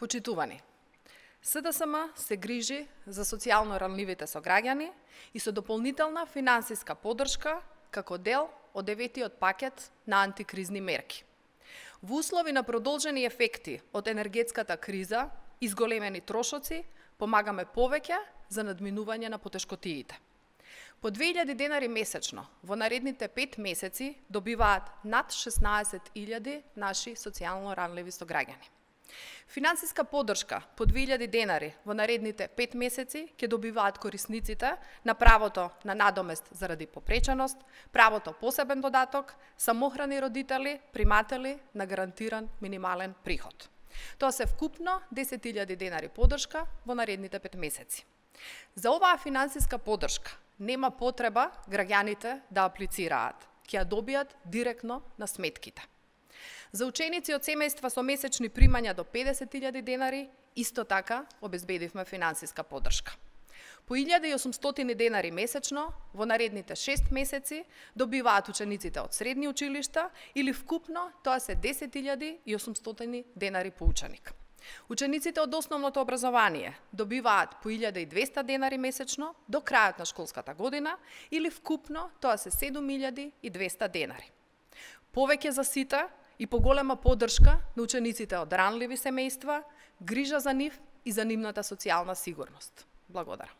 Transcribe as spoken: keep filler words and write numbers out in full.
Почитувани, С Д С М се грижи за социјално ранливите сограѓани и со дополнителна финансиска поддршка како дел од деветиот пакет на антикризни мерки. Во услови на продолжени ефекти од енергетската криза и зголемени трошоци, помагаме повеќе за надминување на потешкотиите. По две илјади денари месечно во наредните пет месеци добиваат над шеснаесет илјади наши социјално ранливи сограѓани. Финансиска поддршка по две илјади денари во наредните пет месеци ќе добиваат корисниците на правото на надомест заради попреченост, правото посебен додаток, самохрани родители, приматели на гарантиран минимален приход. Тоа се вкупно десет илјади денари поддршка во наредните пет месеци. За оваа финансиска поддршка нема потреба граѓаните да аплицираат, ќе ја добијат директно на сметките. За ученици од семејства со месечни примања до педесет илјади денари, исто така обезбедивме финансиска поддршка. По илјада и осумстотини денари месечно во наредните шест месеци добиваат учениците од средни училишта или вкупно тоа се десет илјади и осумстотини денари по ученик. Учениците од основното образование добиваат по илјада и двесте денари месечно до крајот на школската година или вкупно тоа се седум илјади и двесте денари. Повеќе за сите и поголема поддршка на учениците од ранливи семејства, грижа за нив и за нивната социјална сигурност. Благодарам.